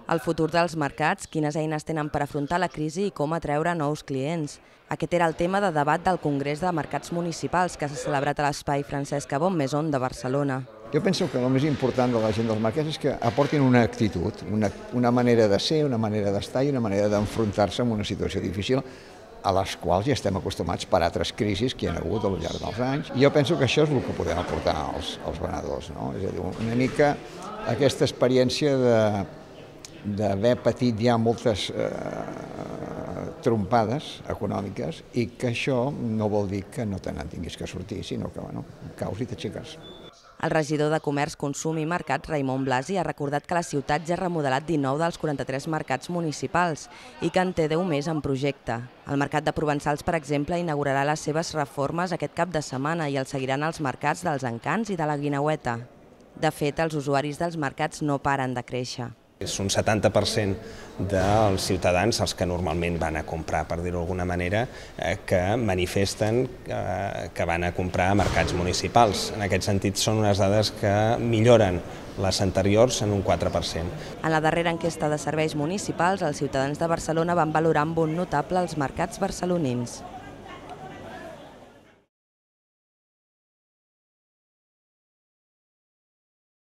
El futur dels mercats, quines eines tenen per afrontar la crisi i com atreure nous clients. Aquest era el tema de debat del Congrés de Mercats Municipals que s'ha celebrat a l'espai Francesc Cabot Maison de Barcelona. Jo penso que el més important de la gent dels mercats és que aportin una actitud, una manera de ser, una manera d'estar i una manera d'enfrontar-se amb una situació difícil a les quals ja estem acostumats per altres crisis que hi ha hagut al llarg dels anys. I jo penso que això és el que podem aportar als venedors, no? És a dir, una mica aquesta experiència d'haver patit ja moltes trompades econòmiques i que això no vol dir que no te n'en tinguis que sortir, sinó que caus i t'aixeques. El regidor de Comerç, Consum i Mercats, Raimon Blasi, ha recordat que la ciutat ja ha remodelat 19 dels 43 mercats municipals i que en té 10 més en projecte. El mercat de Provençals, per exemple, inaugurarà les seves reformes aquest cap de setmana i el seguiran els mercats dels Encants i de la Guineueta. De fet, els usuaris dels mercats no paren de créixer. És un 70% dels ciutadans, els que normalment van a comprar, per dir-ho d'alguna manera, que manifesten que van a comprar a mercats municipals. En aquest sentit, són unes dades que milloren les anteriors en un 4%. En la darrera enquesta de serveis municipals, els ciutadans de Barcelona van valorar amb un notable els mercats barcelonins.